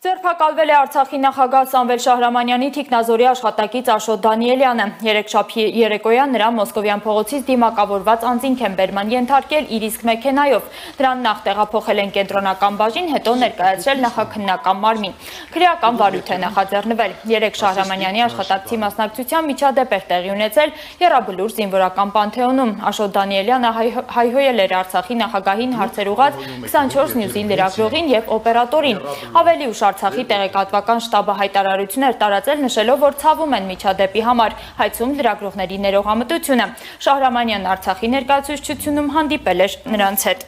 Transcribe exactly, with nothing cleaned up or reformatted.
Ձերբակալվել է Արցախի նախագահ Սամվել Շահրամանյանի թիկնազորի աշխատակից Աշոտ Դանիելյանը։ Երեքշաբթի երեկոյան նրա Մոսկովյան փողոցից դիմակավորված անձինք են բերման ենթարկել իր իսկ մեքենայով։ Դրան նախ տեղափոխել են կենտրոնական բաժին, հետո ներկայացրել նախաքննական մարմին։ Քրեական վարույթ է նախաձեռնվել։ Երեք Շահրամանյանի աշխատակցի մասնակցությամբ միջադեպ էր տեղի ունեցել Եռաբլուր զինվորական պանթեոնում։ Աշոտ Դանիելյանը հայհոյել էր Արցախի նախագահին հարցեր ուղղած քսանչորս նյուզի լրագրողին եւ օպերատորին։ Ավելի ուշ Արցախի տեղեկատվական շտաբը հայտարարություն էր տարածել, նշելով, որ ցավում են միջադեպի համար, հայցում լրագրողների ներողամտությունը։ Շահրամանյանն Արցախի ներկայացուցչությունում հանդիպել էր նրանց հետ։